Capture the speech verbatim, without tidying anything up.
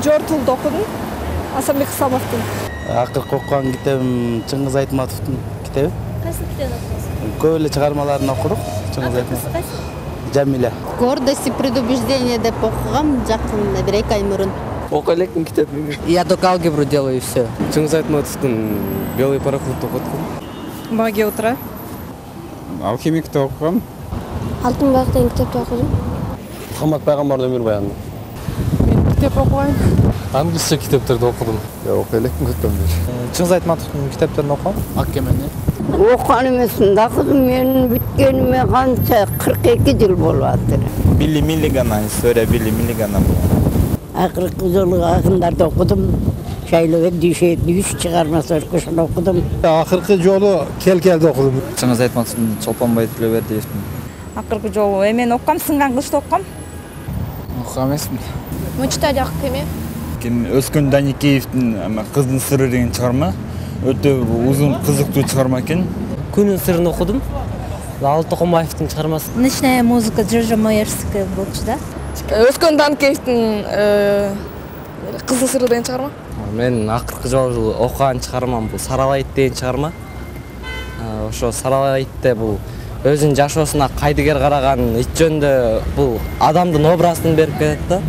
Жортулду окудум. Асанбек Исламовдун. Акыркы окуган китебим Чыңгыз Айтматовдун китеби. Кайсы китебин окудуңуз? Көп эле чыгармаларын окудук. Чыңгыз Акыркысы Айтматов. кайсы? Жамиля. Гордость и предубеждение деп окугам жакын бир эки ай мурун. Окуй элекмин китебин. Я только алгебру делаю и все. Чыңгыз Айтматовдун Белый пароход окудум. Магия утра. Алхимикти окугам. Алтын бак деген китепти окудум. Мухаммад пайгамбардын өмүр баяны. Мен китеп окубайм. Англисче китептерди окудум. Окуй элекмин көтөмдөр. Чыңгыз Айтматовдун китептерин окугам. Ак кемени. Окуган эмесмин да кызым, менин бүткениме канча кырк эки жыл болуп атыр. Билли Миллиган, история Билли Миллигана. Акыркы жолу акындарды окудум. Шайлыгы дүйшөйт үч чыгармасы ошону окудум. Акыркы жолу Келкелди окудум. Чыңгыз Айтматовдун Чолпонбай Тилебердиевдин. Акыркы жолу эмен оккам, сынган кышты оккам. Окугам эмесмин. Мы читали Ак кеме. Өскөн Даникеевдин Кыздын сыры деген чыгарма. Өтө узун, кызыктуу чыгарма экен. Күнүн сырын окудум. Алты Токомбаевдин чыгармасы. Ночная музыка Джорджа Моерская болчу да. Өскөн Даникеевдин Кыздын сыры деген чыгарма. Мен акыркы жолу окуган чыгармам бул Саралайт деген чыгарма. Ошо Саралайтте бул өзүнүн жашоосуна кайдыгер караган ит жөнүндө бул адамдын образын берип кетет да.